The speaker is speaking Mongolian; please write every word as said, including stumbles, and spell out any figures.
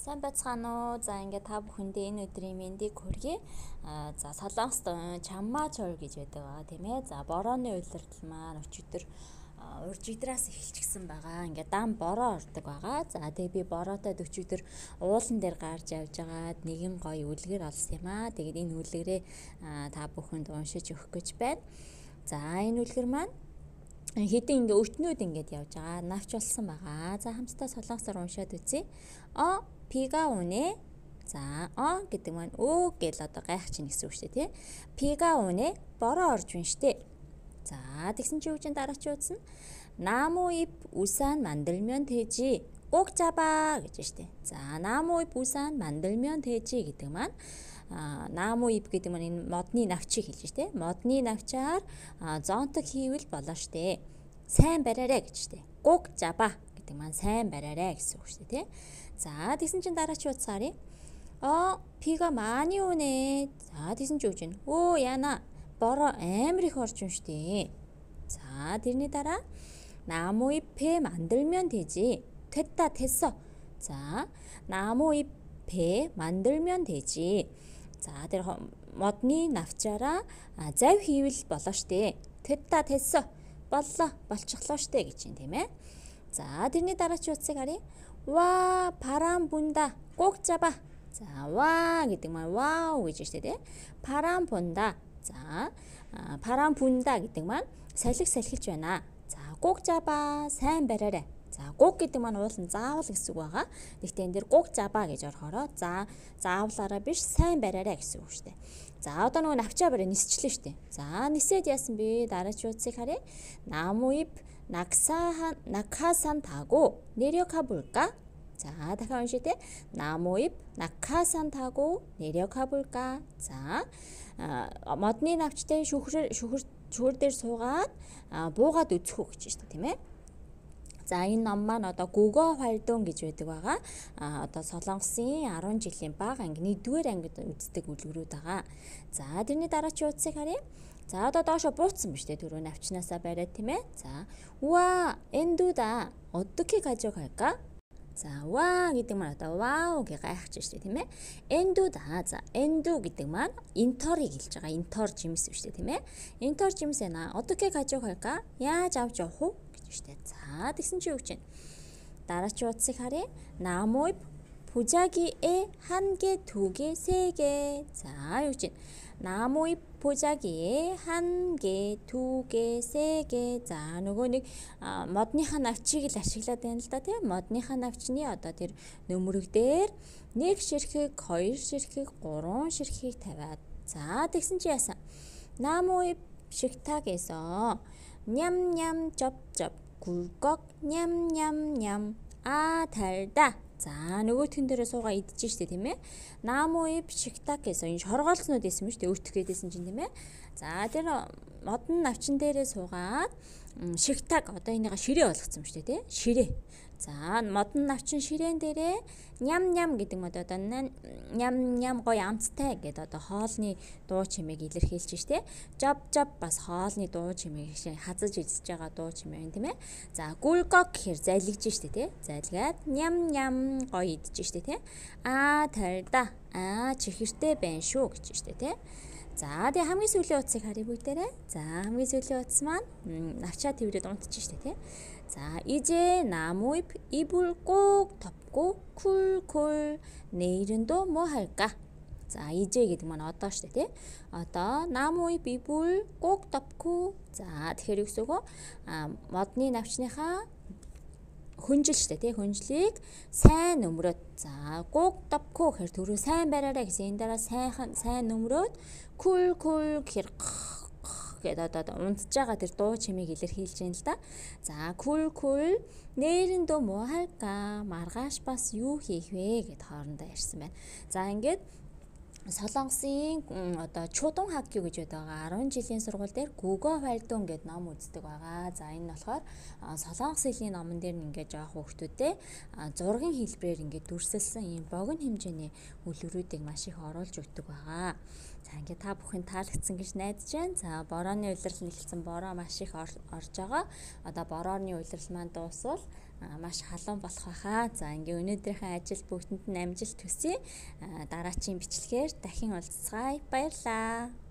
Сайн байцгаана уу. За ингээд та бүхэндээ энэ өдрийн мэндийг хүргэе. Аа за Солонгост чаммаа чор гэж байдаг байгаа тийм ээ. За борооны улирдал маань өчигдөр урж идраас эхэлчихсэн байгаа. Ингээд дан бороо ордог байгаа. За тэгээ би бороотой өчигдөр уулан дээр гарч явж байгаад нэгэн гоё үлгэр олсон юм аа. Тэгээд энэ үлгэрээ та бүхэнд уншиж өгөх гэж байна. За энэ үлгэр маань хэдийн ингээ өтнүүд ингээд явж байгаа. Навч болсон байгаа. За хамтдаа солонгосоор уншаад үзье. О пига үнэ. За о гэдэг маань өө гэл одоо гайх чинь гэсэн үг шүү дээ тий. Пига үнэ бороо орж байна штэ. За тэгсэн чи юу гэж дараач үзсэн. Нааму ip 우산 만들면 되지. 꼭 잡아 гэж штэ. За нааму ip 우산 만들면 되지 гэдэг маань а нааму ip гэдэг маань энэ модны навчийг хэлж штэ. Модны навчаар зонтог хийвэл болно штэ. Сайн бариарай гэж штэ. 꼭 잡아 гэдэг маань сайн бариарай гэсэн үг штэ тий. За тэгсэн чинь дараач утсаар이. 어 비가 많이 오네. За тэгсэн чи юу гэж вэ? 오 яна бороо амар их орж юм штэ. 자 тэрний дараа 나무 잎에 만들면 되지. 됐다 됐어. 자 나무 잎에 만들면 되지. За тэр модны навчаараа зав хийвэл болно штэ. 됐다 됐어. боллоо болчихлоо штэ гэж юм тийм ээ. За тэрний дараач утсыг харъя. 와 바람 분다 꼭 잡아. 자 와 гэдэг маань 와우 гэж штэ тий. 바람 분다. 자 아, 바람 분다 гэдэг маань салхи салхилж байна. За 꼭 잡아 сайн бариарай. За 꼭 гэдэг маань уулын заавал гэсэн үг байгаа. Гэхдээ энэ дэр 꼭 잡아 гэж орохороо за заавлаараа биш сайн бариарай гэсэн үг штэ. За одоо нөгөө навчаа барай нисчлээ штэ. За нисээд яасан бэ? Дараач утсыг харъя. 나무 잎 낙사 낙하산 타고 내려가 볼까? 자, 다시 уншия те. 나무 잎 낙하산 타고 내려가 볼까? 자, модны навчтай шүхэр шүхэр шүхэр дээр суугаад буугаад үзэх үү гэж байна шүү дээ, тийм ээ. За энэ ном маань одоо 국어 활동 гэж байдаг байгаа. А одоо Солонгосын арван жилийн бага анги нэгдүгээр ангид үздэг үлгэрүүд байгаа. За тэрний дараач утсыг харъя. За одоо доошо буутсан биз дээ түрүү навчнаасаа бариад тийм ээ. За уа эндүда 어떻게 가져갈까? За 와 гэдэг маань одоо вау гэж гайхаж штэ тийм ээ. Эндүда за эндү гэдэг маань инторыг хэлж байгаа. Интор жимс биш тийм ээ. Интор жимсээ на 어떻게 가져갈까? яаж авч явах вэ гэж штэ. За тэгсэн чи юу гэж байна? Дараач утсыг харъя. 나무 잎 보자기에 한 개, 두 개, 세 개. 자 юу гэж байна? 나무 잎 보자기에 한 개, 두 개, 세 개. За нөгөө нэг модныхаа навчийг л ашиглаад байна л да тийм. Модныхаа навчны одоо тэр нөмрөг дээр нэг ширхэг, хоёр ширхэг, гурван ширхгийг тавиад. За тэгсэн чи яасан? 나무 잎 식탁에서 냠냠 쩝쩝 굴꺽 냠냠냠 아 달다. За нөгөөх тэн дээрээ суугаа идэж штэ тийм ээ. 나무 잎 식탁에서 энэ шоргоолцнууд байсан юм штэ өтөх гэдээсэн чинь тийм ээ. За тэр модон навчин дээрээ суугаад шигтаг одоо энийга ширээ болгоцсон юм штэ тий. Ширээ. За модон навчин ширээн дээрээ ням-ням гэдэг мод одоо ням-ням гоё амттай гэдэг одоо хоолны дуу чимээг илэрхийлж штэ. Жоб-жоб бас хоолны дуу чимээг хазаж эзэж байгаа дуу чимээ байна тийм ээ. За гүлгок гэхэр залгиж штэ тий. Залгаад ням-ням гоё идэж штэ тий. Аа тарда. Аа чихэртэй байна шүү гэж штэ тий. За тэгээ хамгийн сүүлийн утсыг харъя бүгдээрээ. За хамгийн сүүлийн утас маань навчаа тэрвэрэд унтчих штэ тий. 자 이제 나무 잎 이불 꼭 덮고 쿨쿨 내일은 또 뭐 할까? 자 이제 гэдэг маань одоо штэ тий. Одоо 나무 잎 이불 꼭 덮고 за тэгэхээр юу гэсэн үг вэ? модны навчныхаа хүнжил штэ тий. Хүнжлийг сайн нөмрөөд за 꼭 덮고 гэхээр түрүү сайн бариарай гэсэн энэ дараа сайн сайн нөмрөөд 쿨쿨 гэхээр гэдэг одоо унтж байгаа тэр дуу чимээг илэрхийлж байна л да. За кул кул 내일은 또 뭐 할까? маргааш бас юу хийх вэ гэд хоорондоо ярьсан байна. За ингээд Солонгосын одоо чудун хакю гэж байгаа арван жилийн сургууль дээр 국어 활동 гэд ном үздэг байгаа. За энэ нь болохоор Солонгос хэлний номон дээр ингээд жоох хүүхдүүдэд зургийн хэлбэрээр ингээд дүрсэлсэн ийм богино хэмжээний үлгэрүүдийг маш их оруулж өгдөг байгаа. За ингээд та бүхэн таалагдсан гэж найдаж байна. За борооны улирал нь эхэлсэн бороо маш их орж байгаа. Одоо борооны улирал маань дуусвал маш халуун болох байхаа. За ингээ өнөөдрийнхээ ажил бүгдэнд нь амжилт хүсье. Дараачийн бичлэгээр дахин уулзцгаая. Баярлалаа.